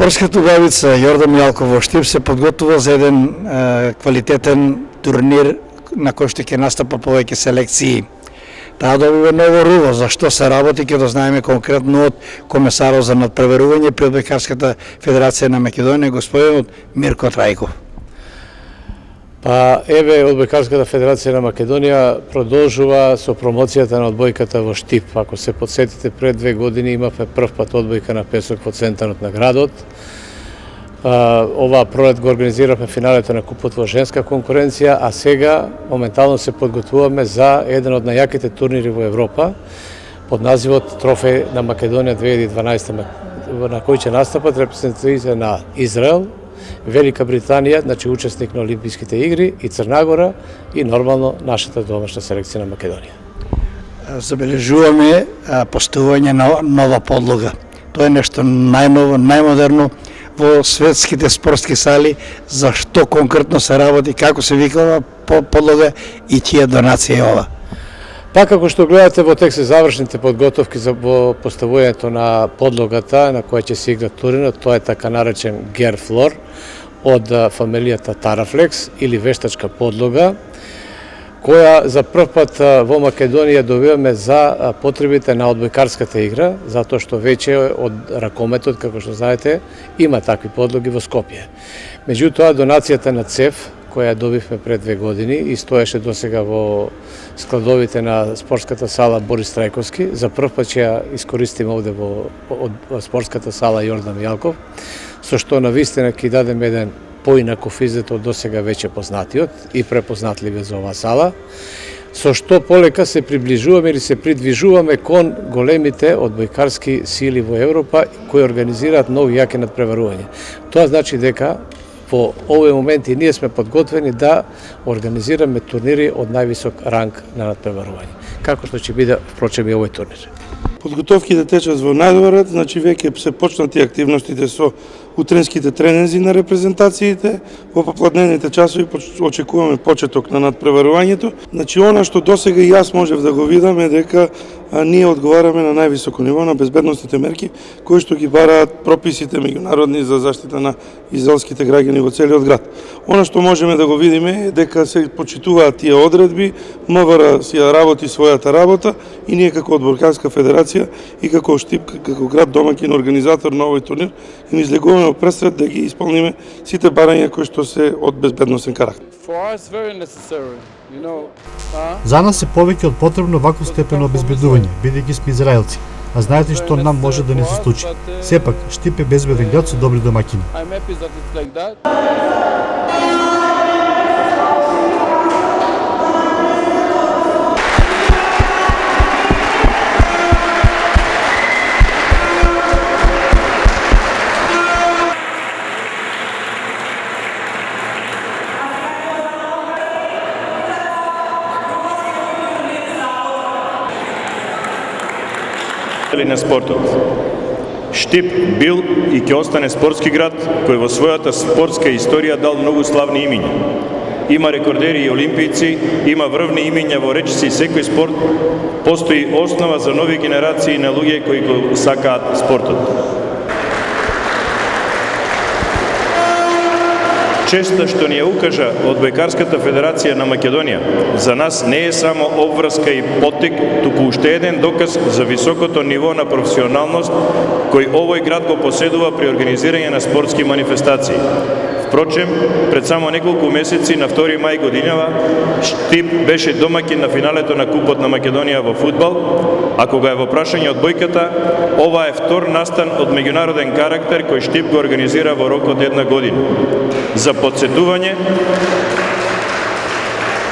Спортската убавица Јордан Мијалков во Штип се подготвува за еден квалитетен турнир на кој што ќе настапа повеќе селекции. Таа добива ново руво, за што се работи, ќе дознаеме конкретно од комесарот за надпреварување при Одбојкарската федерација на Македонија, господинот Мирко Трајков. Па еве, Одбојкарската федерација на Македонија продолжува со промоцијата на одбојката во Штип. Ако се подсетите, пред 2 години имавме прв пат одбојка на песок во центарот на градот. Оваа пролет го организиравме финалето на купот во женска конкуренција, а сега моментално се подготвуваме за еден од најаките турнири во Европа под називот Трофеј на Македонија 2012, на кој ќе настапат репрезентативите на Израел, Велика Британија, значи учесник на Олимписките игри, и Црна Гора, и нормално нашата домашна селекција на Македонија. Забележуваме поставување на нова подлога. Тоа е нешто најново, најмодерно во светските спортски сали. Зашто конкретно се работи, како се викава подлога и чија донација е ова? Па како што гледате во текст завршните подготовки за поставувањето на подлогата на која ќе се игра турнирот, тоа е така наречен Герфлор од фамилијата Тарафлекс или вештачка подлога, која за прв пат во Македонија добиваме за потребите на одбојкарската игра, затоа што веќе од ракометот, како што знаете, има такви подлоги во Скопје. Меѓутоа, донацијата на ЦЕФ, која добивме пред 2 години и стоеше досега во складовите на спортската сала Борис Трајковски, за прв пат ќе ја искористиме овде во спортската сала Јордан Мијалков, со што навистина ќе дадеме еден поинаков изглед од досега веќе познатиот и препознатливиот за оваа сала, со што полека се приближуваме или се придвижуваме кон големите одбојкарски сили во Европа кои организираат нови јаки надпреварувања. Тоа значи дека во овој момент и ние сме подготвени да организираме турнири од највисок ранг на надпреварување, како што ќе биде впрочем и овој турнир. Подготовките течат во најдобар ред, значи веќе се почнати активностите со утренските тренинзи на репрезентациите. Во попладневните часови очекуваме почеток на надпреварувањето. Значи она што досега и јас можев да го видам е дека ние одговараме на највисоко ниво на безбедносните мерки кои што ги бараат прописите меѓународни за заштита на израелските граѓани во целиот град. Она што можеме да го видиме е дека се почитуваат тие одредби, МВР си ја работи својата работа и ние како Одбојкарска федерација и како Штип, како град домаќин организатор на овој турнир, им излегуваме пресред да ги исполниме сите барања кои што се од безбедносен карактер. За нас е повеќе од потребно ваков степен обезбедување, бидејќи сме израелци, а знаете што нам може да не се случи. Сепак, Штип е безбеден град со добри домаќини. На спортот. Штип бил и ќе остане спортски град кој во својата спортска историја дал многу славни имиња. Има рекордери и олимпијци, има врвни имиња во речиси секој спорт, постои основа за нови генерации на луѓе кои го сакаат спортот. Честа што ни ја укажа Одбојкарската федерација на Македонија, за нас не е само обврска и поттик, туку уште еден доказ за високото ниво на професионалност кој овој град го поседува при организирање на спортски манифестации. Впрочем, пред само неколку месеци, на 2 мај годинава, Штип беше домаќин на финалето на Купот на Македонија во фудбал, а кога е во прашање одбојката, ова е втор настан од меѓународен карактер кој Штип го организира во рок од 1 година. За подсетување,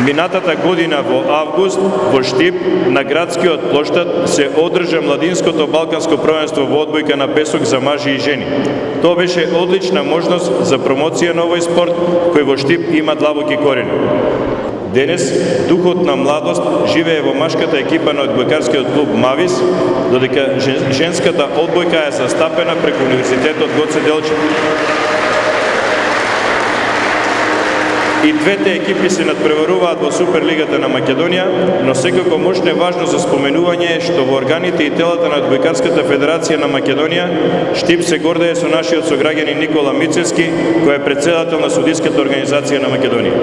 минатата година во август во Штип на градскиот плоштад се одржа младинското балканско првенство во одбојка на песок за мажи и жени. Тоа беше одлична можност за промоција на овој спорт кој во Штип има длабоки корени. Денес духот на младост живее во машката екипа на одбојкарскиот клуб Мавис, додека женската одбојка е застапена преку Универзитетот Гоце Делчев. И двете екипи се надпреваруваат во Суперлигата на Македонија, но секако мощно важно за споменување е што во органите и телата на Одбојкарската федерација на Македонија Штип се гордее со нашиот сограѓанин Никола Мицевски, кој е претседател на судиската организација на Македонија.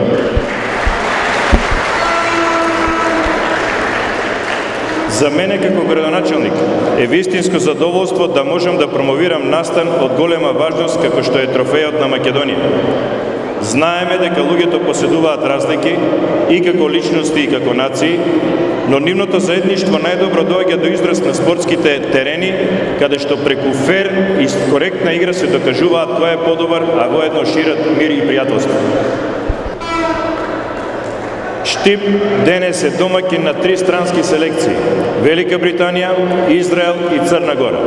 За мене како градоначелник е вистинско задоволство да можам да промовирам настан од голема важност како што е трофејот на Македонија. Знаеме дека луѓето поседуваат разлики и како личности и како нации, но нивното заедништво најдобро доаѓа до израз на спортските терени, каде што преку фер и коректна игра се докажуваат кој е подобар, а воедно шират мир и пријателство. Штип денес е домаќин на 3 странски селекции – Велика Британија, Израел и Црна Гора.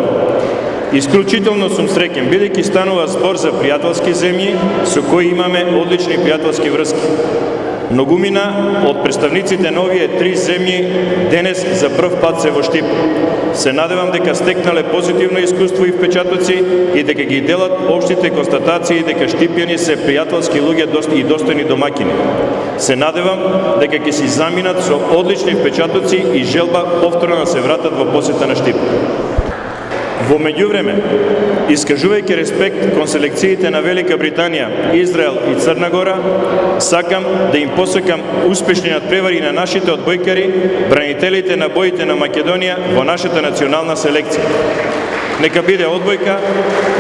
Исклучително сум среќен, бидејќи станува збор за пријателски земји со кои имаме одлични пријателски врски. Многумина од представниците на овие 3 земји денес за прв пат се во Штип. Се надевам дека стекнале позитивно искуство и впечатоци и дека ги делат општите констатации дека штипјани се пријателски луѓе и достојни домаќини. Се надевам дека ќе си заминат со одлични впечатоци и желба повторно да се вратат во посета на Штип. Во меѓувреме, искажувајќи респект кон селекциите на Велика Британија, Израел и Црна Гора, сакам да им посакам успешни надпревари на нашите одбојкари, бранителите на боите на Македонија во нашата национална селекција. Нека биде одбојка,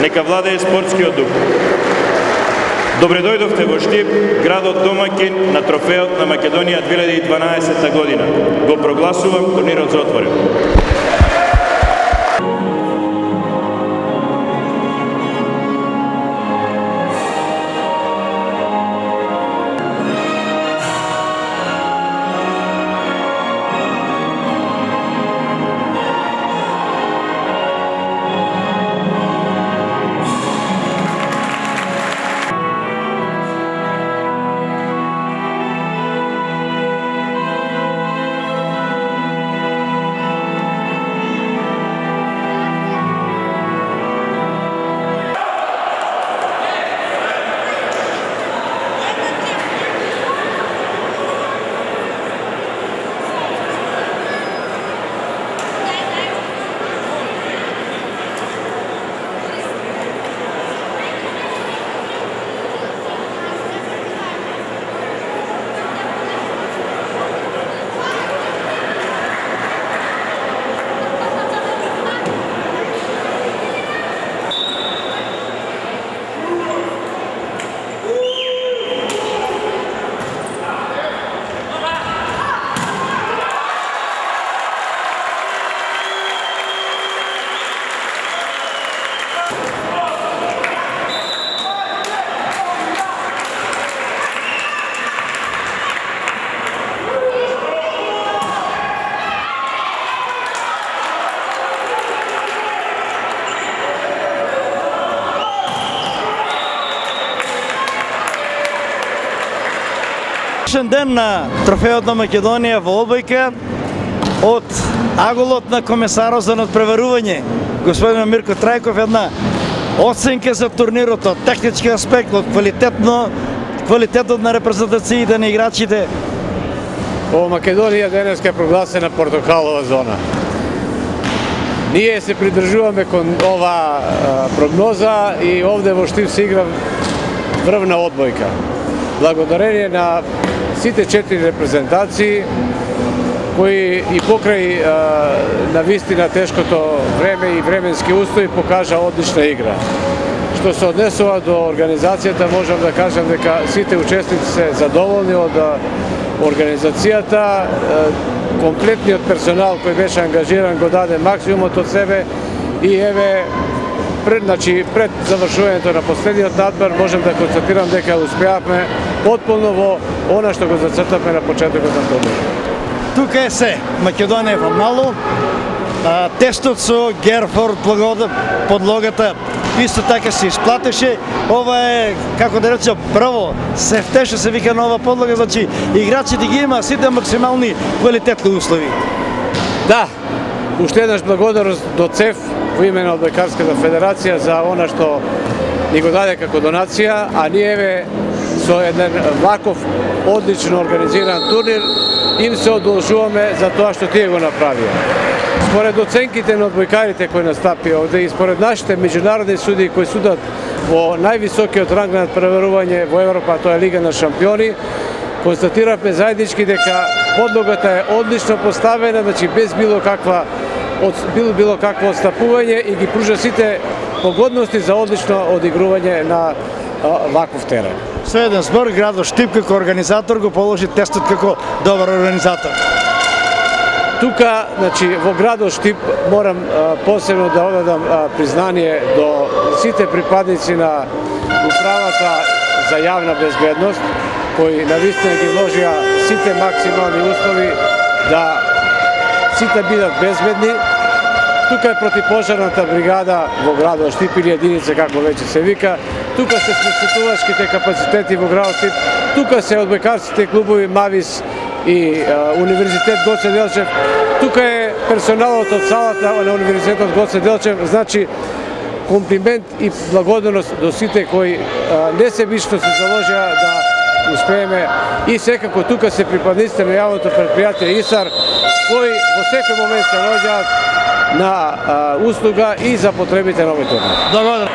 нека владее спортскиот дух. Добре дојдовте во Штип, градот домаќин на трофеот на Македонија 2012 година. Го прогласувам турнирот за отворен. Днешен ден на трофеот на Македонија во одбојка од аголот на комесарот за надпреварување, господин Мирко Трајков, една оценка за турнирот од технички аспект, од квалитетот на репрезентациите на играчите. Во Македонија денес е прогласена портокалова зона. Ние се придржуваме кон ова прогноза и овде во Штип се игра врвна одбојка. Благодарение на сите 4 репрезентации кои и покрај на вистина тешкото време и временски устои покажа одлична игра. Што се однесува до организацијата, можам да кажам дека сите учесници се задоволни од организацијата, комплетниот персонал кој беше ангажиран го даде максимумот од себе и еве пред завршувањето на последниот надпревар можам да констатирам дека успеавме потполно во она што го зацртавме на почетокот на турнирот. Тука е се, Македонија е во мало, тестот со Герфорд подлогата исто така се исплатеше. Ова е, како да речем, прво, сефтеше се вика нова подлога, значи играчите ги има сите максимални квалитетни услови. Да, уште еднаш благодарност до ЦЕФ во име на Одбојкарската федерација за она што ни го даде како донација, а ние со еден ваков одлично организиран турнир, им се одолжуваме за тоа што тие го направија. Според оценките на одбојкарите кои настапи овде и според нашите меѓународни суди кои судат во највисокиот ранг на надпреварување во Европа, тоа е Лига на шампиони, констатиравме заеднички дека подлогата е одлично поставена, значи без било какво отстапување и ги пружа сите погодности за одлично одигрување на ваков терен. Со еден збор, градот Штип како организатор го положи тестот како добар организатор. Тука, значи, во градот Штип морам посебно да одадам признание до сите припадници на управата за јавна безбедност, кои навистина ги вложија сите максимални услови да сите бидат безбедни. Тука е противпожарната бригада во градот Штип или единица како веќе се вика. Тука се спасителувачките капацитети во градот Штип. Тука се одбојкарските клубови Мавис и Универзитет Гоце Делчев. Тука е персоналот од салата на Универзитетот Гоце Делчев. Значи, комплимент и благодарност до сите кои несебично се заложија да успееме и секако тука се припадниците на јавното предпријатие ИСАР, кои во секој момент се наоѓаат на услуга и за потребите на овој турнир. Благодарам.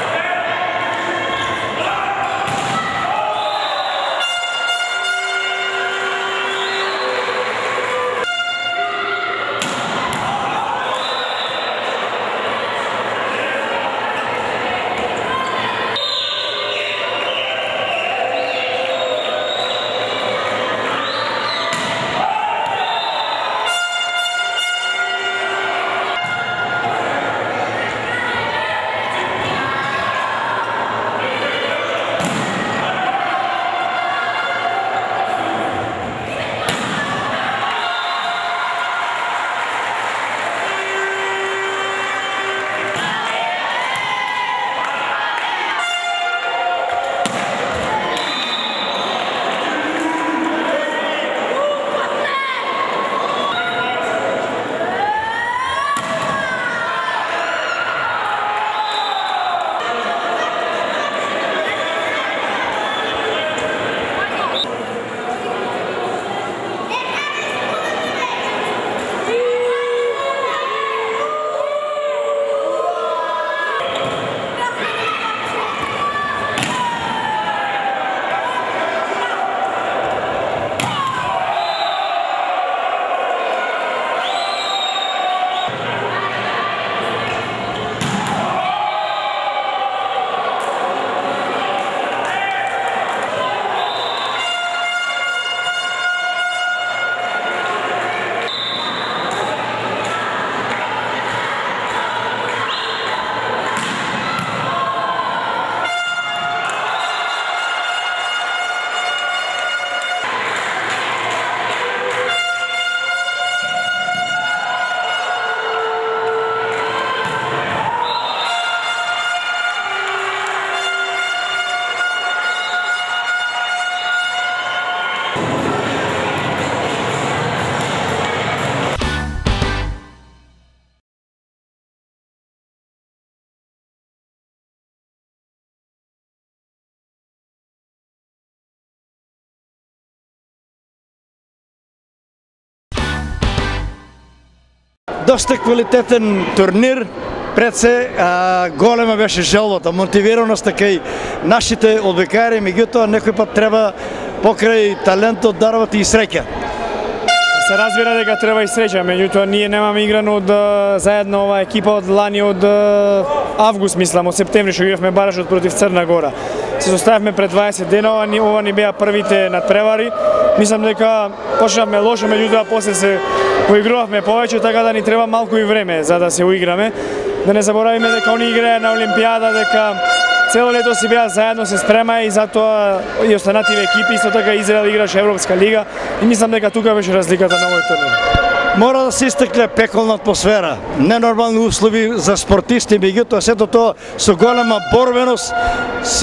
Доста квалитетен турнир, пред се голема беше желбата, мотивираноста кај нашите одбојкари, меѓутоа некој пат треба покрај талентот дарват и среќа. Се разбира дека треба и среќа, меѓутоа ние немаме играно од заедно оваа екипа од лани од август, мислам, од септември што игравме баражот против Црна Гора. Се составивме пред 20 дена, ова ни беа првите надпревари. Мислам дека почнавме лошо, меѓутоа после се поигравме повеќе, така да ни треба малку и време за да се уиграме. Да не заборавиме дека они играја на Олимпијада, дека цело лето си беа заедно, се спремаа и затоа и останативе екипи, исто така Израел играше Европска лига и мислам дека тука беше разликата на овој турнир. Мора да се истакне пеколна атмосфера, ненормални услови за спортисти, меѓутоа сето тоа со голема борбеност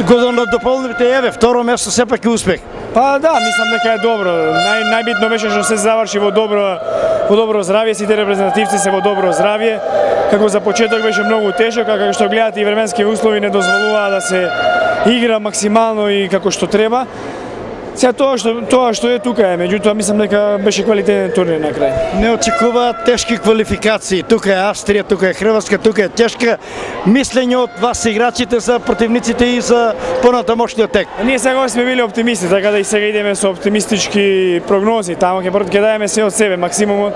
го дополнивте, еве, второ место сепак е успех. Па да, мислам дека е добро. Најбитно беше што се заврши во добро здравје, сите репрезентативци се во добро здравје. Како за почеток беше многу тешок, а како што гледате и временски услови не дозволуваа да се игра максимално и како што треба. Сега тоа што е тука е, меѓутоа мислам дека беше квалитетен турнир на крај. Не очекуваат тешки квалификации. Тука е Австрија, тука е Хрватска, тука е тешка. Мислење од вас играчите за противниците и за понатамошниот тек. Ние сега сме били оптимисти, така да и сега идеме со оптимистички прогнози. Таму ќе даеме се од себе, максимумот.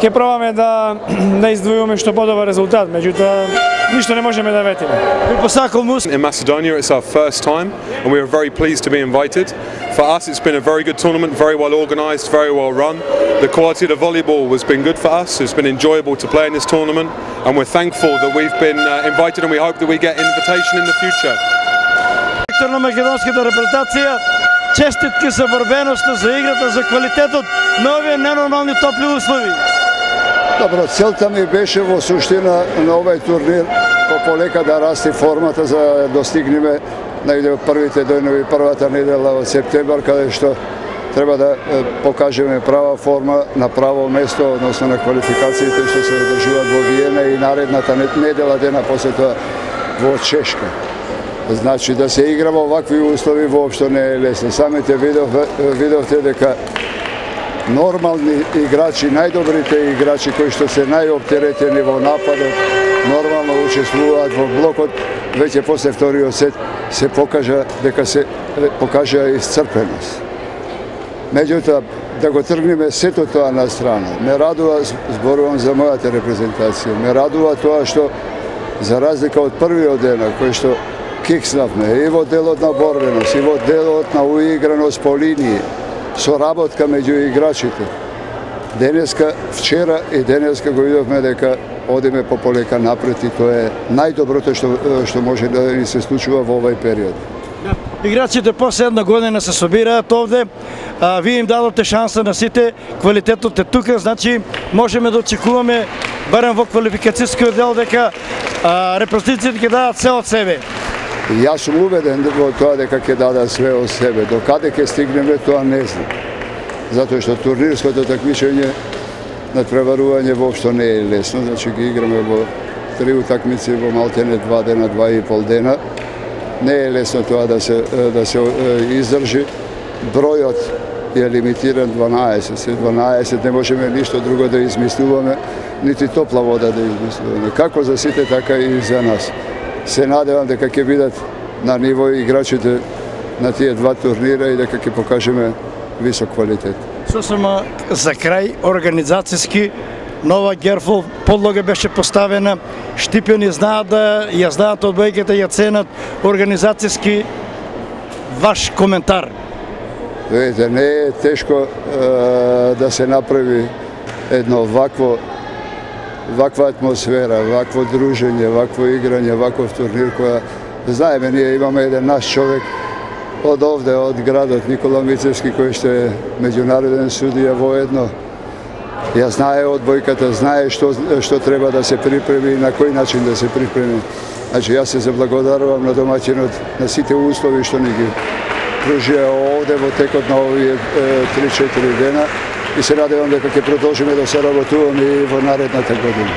Ќе пробаме да издвојуваме што подобар резултат, меѓутоа ништо не можеме да ветиме. In Macedonia, it's our first time, and we are very pleased to be invited. For us, it's been a very good tournament, very well organised, very well run. The quality of the volleyball has been good for us. It's been enjoyable to play in this tournament, and we're thankful that we've been invited, and we hope that we get invitation in the future. Директор на македонската репрезентација, честитки за борбеноста, за играта, за квалитетот на овие ненормални топли услови. Добро, целта ми беше во суштина на овој турнир полека да расти формата за да достигнеме најде првите денови, првата недела од септембар, каде што треба да покажеме права форма на право место, односно на квалификациите што се одржуваат во Виена и наредната недела дена после тоа во Чешка. Значи да се игра во вакви услови воопшто не е лесно. Самите видовте дека нормални играчи, најдобрите играчи кои што се најоптеретени во нападот, нормално учествуваат во блокот, веќе после вториот сет се покажа дека се покажа исцрпеност. Меѓутоа, да го тргнеме сето тоа на страна. Ме радува, зборувам за мојата репрезентација, ме радува тоа што за разлика од првиот ден, кој што кикснавме и во делот на борбеност, и во делот на уиграност по линии, соработка меѓу играчите. Денеска, вчера и денеска го видовме дека одиме пополека напред и тоа е најдоброто што може да ни се случува во овој период. Играчите после една година се собираат овде, вие им дадоте шанса на сите, квалитетот е тука, значи можеме да очекуваме барем во квалификацијскиот дел дека репрезентациите ќе дадат се од себе. Јас сум убеден во тоа дека ќе дадат све од себе. До каде ќе стигнеме, тоа не знам. Затоа што турнирското такмичење на преварување воопшто не е лесно. Значи ги играме во 3 утакмици во малтене 2 дена, 2,5 дена. Не е лесно тоа да се издржи. Бројот е лимитиран 12. Се 12 не можеме ништо друго да измислуваме, нити топла вода да измислуваме. Како за сите, така и за нас. Се надевам дека ќе бидат на ниво играчите на тие два турнира и дека ќе покажеме висок квалитет. Сосема за крај, организацијски, нова Герфол подлога беше поставена, Штипјани знаат да ја знаат одбојките, ја ценат организацијски. Ваш коментар? Видите, не е тешко да се направи едно ваква атмосфера, вакво дружење, вакво играње, ваков турнир која знаеме, ние имаме еден наш човек од овде, од градот Никола Мицевски, кој што е меѓународен судија воедно. Ја знае одбојката, знае што треба да се припреми и на кој начин да се припреми. Значи, јас се заблагодарувам на домаќинот на сите услови што ни ги пружија овде во текот на овие 3-4 дена и се надевам дека ќе продолжиме да се работуваме и во наредната година.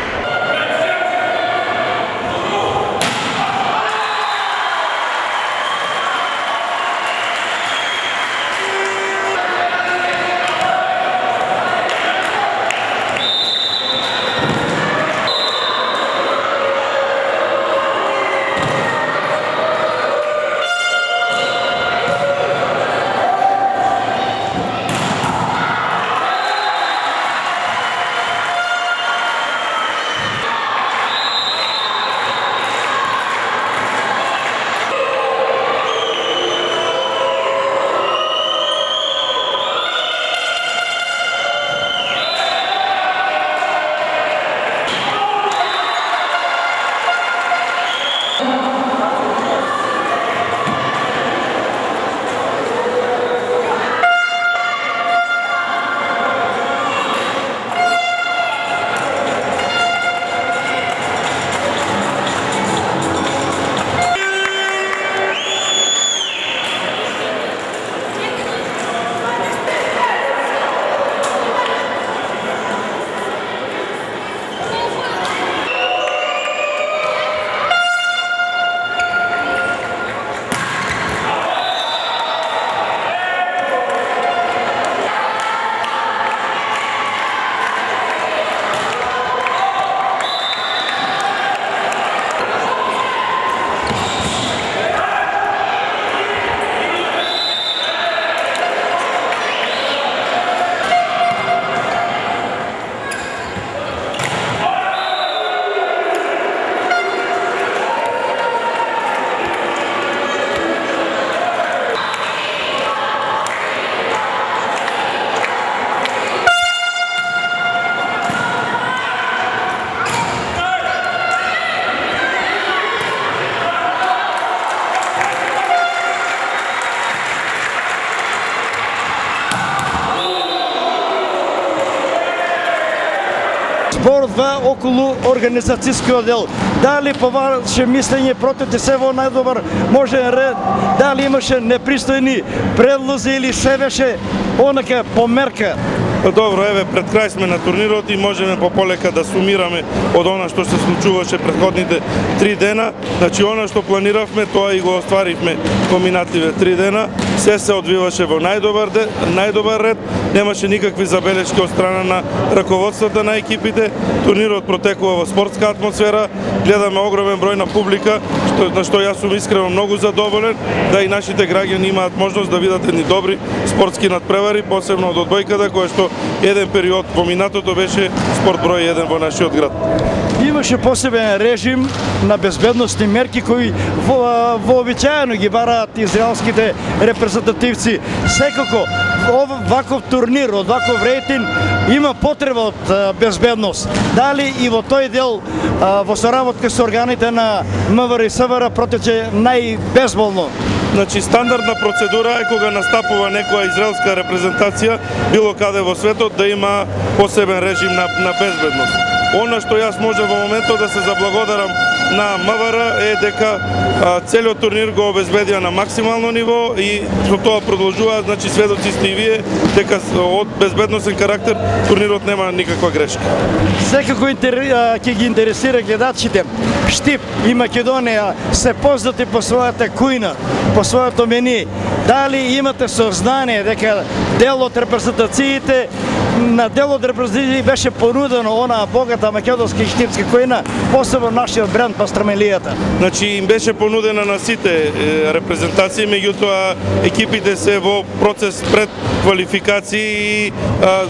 два околу организацијскиот дел. Дали по ваше мислење протете се во најдобар можен ред, дали имаше непристојни предлози или се беше онака померка? Па добро, еве, пред крај сме на турнирот и можеме пополека да сумираме од она што се случуваше претходните 3 дена. Значи, она што планиравме, тоа и го остваривме во минативе 3 дена. Се одвиваше во најдобар ред, немаше никакви забелешки од страна на раководството на екипите. Турнирот протекува во спортска атмосфера, гледаме огромен број на публика, на што јас сум искрено многу задоволен, да и нашите граѓани имаат можност да видат едни добри спортски надпревари, посебно од одбојката, која што еден период во минатото беше спорт број 1 во нашиот град. Имаше посебен режим на безбедностни мерки кои вообичаено ги бараат израелските репрезентативци. Секако, ваков турнир, од ваков рейтинг, има потреба од безбедност. Дали и во тој дел, во соработка со органите на МВР и СВР протече најбезболно? Значи, стандардна процедура е кога настапува некоја израелска репрезентација, било каде во светот, да има посебен режим на безбедност. Она што јас може во моментот да се заблагодарам на МВР е дека целиот турнир го обезбедија на максимално ниво и со тоа продолжуваат, значи сведоци сте и вие, дека од безбедносен карактер турнирот нема никаква грешка. Секако ќе ги интересира гледачите. Штип и Македонија се познати по својата кујна, по своето мени. Дали имате сознание дека дел од репрезентациите на дел од репрезентациите беше понудено онаа богата македонска и штипска кујна, посебно нашиот бренд пастрамелијата? Значи им беше понудена на сите репрезентации, меѓутоа екипите се во процес пред квалификации и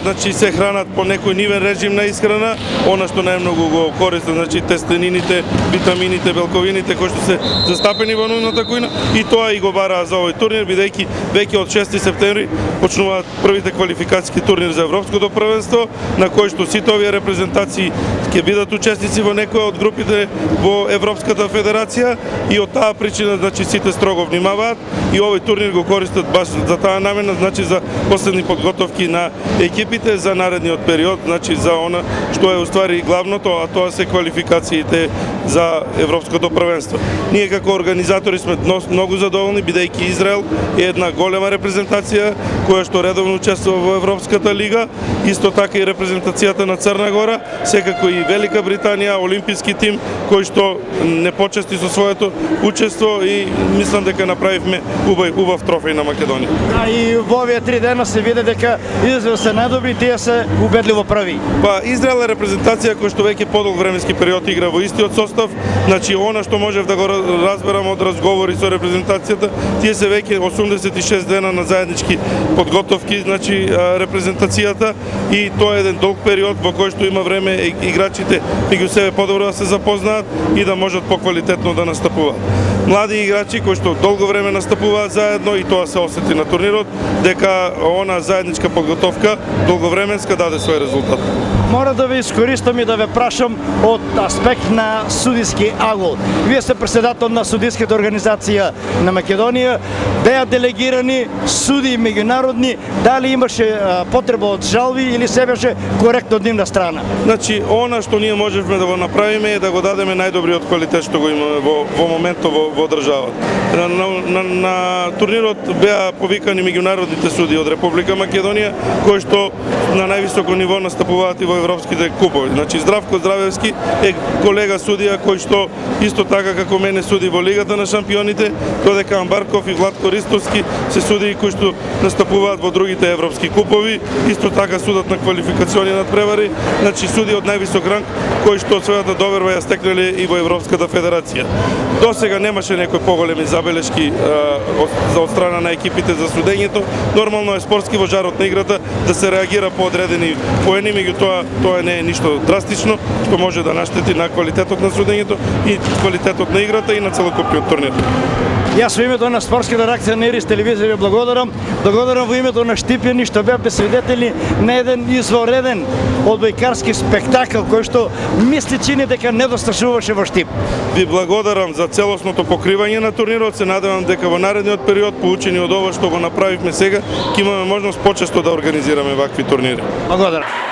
значи се хранат по некој нивен режим на исхрана, она што најмногу го користат, значи тестенините, витамините, белковините кои што се застапени во нивната кујна и тоа и го бараа за овој турнир, бидејќи веќе од 6 септември почнуваат првите квалификацијски турнир за Европското првенство, на кој што сите овие репрезентации ќе бидат учесници во некоја од групите во Европската федерација и од таа причина, значи, сите строго внимаваат и овој турнир го користат баш за таа намена, значи за последни подготовки на екипите за наредниот период, значи за она што е уствари главното, а тоа се квалификациите за Европското првенство. Ние како организатори сме многу задоволни, бидејќи Израел е една голема репрезентација која што редовно учествува во Европската лига, исто така и репрезентацијата на Црна Гора, секако и Велика Британија, олимписки тим кој што не почести со своето учество и мислам дека направивме убав трофеј на Македонија. А и во овие 3 дена се види дека Израел се најдобри, тие се убедливо прави. Па Израел е репрезентација која што веќе подолг временски период игра во истиот состав, значи она што можев да го разберам од разговори со репрезентацијата, тие се веќе 86 дена на заеднички подготовки, значи репрезентацијата и тоа е еден долг период во кој што има време играчите меѓу себе подобро да се запознаат и да можат поквалитетно да настапуваат. Млади играчи кои што долго време настапуваат заедно и тоа се осети на турнирот, дека она заедничка подготовка долговременска даде свој резултат. Мора да ве искористам и да ве прашам од аспект на судиски агол. Вие сте председател на судиската организација на Македонија, беа делегирани суди меѓународни, дали имаше потреба од жалби или се беше коректно од нивна страна? Значи, она што ние можевме да го направиме е да го дадеме најдобриот квалитет што го имаме во моментот во државата. На турнирот беа повикани меѓународните суди од Република Македонија, кои што на највисоко ниво настапуваат и во европските купови. Значи, Здравко Здравевски е колега судија кој што исто така како мене суди во Лигата на шампионите, додека Амбарков и Владко Ристовски се судии кои што настапуваат во другите европски купови, исто така судат на квалификациони надпревари, значи суди од највисок ранг кои што својата доверба ја стекнале и во Европската федерација. До сега немаше некои поголеми забелешки од страна на екипите за судењето. Нормално е спортски во жарот на играта да се реагира по одредени поени, меѓутоа тоа не е ништо драстично што може да наштети на квалитетот на судењето и квалитетот на играта и на целокупниот турнир. Јас во името на спортската реакција на Ирис телевизија ви благодарам. Благодарам во името на Штипјани што беа свидетели на еден извореден одбојкарски спектакл кој што мисли чини дека не досташуваше во Штип. Ви благодарам за целосното покривање на турнирот. Се надевам дека во наредниот период, поучени од ова што го направивме сега, ќе имаме можност почесто да организираме вакви турнири. Благодарам.